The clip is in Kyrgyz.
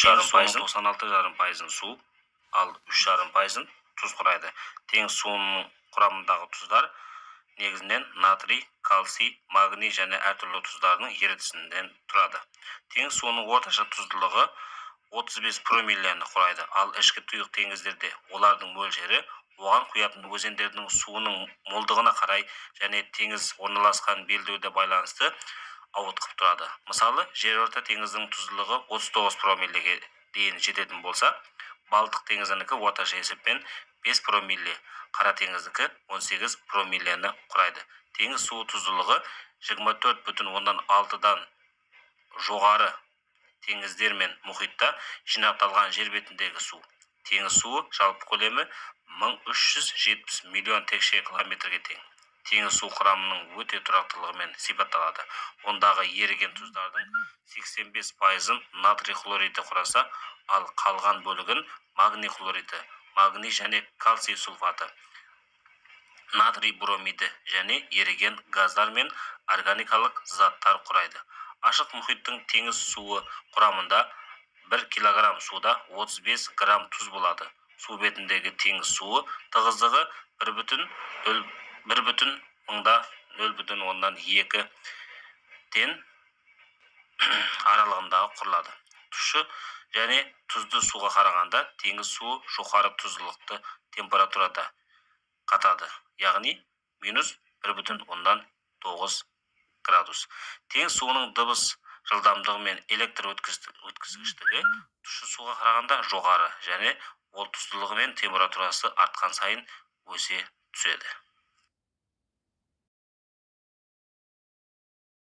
3,5%, 96,5% суу, ал 3,5% туз курайды. Теңиз суунун курамындагы туздар негизинен натрий, кальций, магний жана ар түрлүү туздардын эритүүсүнөн турады. Теңиз суунун орточо туздуулугу 35 промиллени курайды. Ал ички туюк теңиздерде олардын мөлшери оған куятын өзендердин суунун молдугуна карай және теңиз орналаскан белдөөдө байланысты ауыткып турады. Мисалы, жер орто теңиздин туздуулугу 39 промиллеге дейин жететін болса, Балтык теңизиники орточо эсеппен 5 промилле, Кара теңиздики 18 промиллени курайды. Теңиз суу туздуулугу 24,6дан жогары теңиздер мен мухитта жинакталган жер бетиндеги суу. Теңиз суу жалпы көлөмү 1370 миллион текше километрге тең. Теңиз суу курамынын өтө турактуулугу менен сипатталады. Ондагы эриген туздардын 85%-ын натрий хлориди кураса, ал калган бөлүгүн магний хлориди, магний жана кальций сульфаты, натрий бромиди және эриген газдар мен органикалык заттар курайды. Ашык мухиттин теңиз суу курамында 1 килограмм сууда 35 грамм туз болады. Суу бетиндеги теңиз суу тыгыздыгы 1,0,2 тен аралыгындагы курулады. Тушу және туздуу сууга караганда теңиз суу жогору туздуулукту температурада катады, яғни -1,9 градус. Теңиз суунун дыбыс жылдамдыгы мен электр өткүзгүчтүгү тушу сууга караганда жогору және ол туздуулугу мен температурасы арткан сайын өсө түсөдү.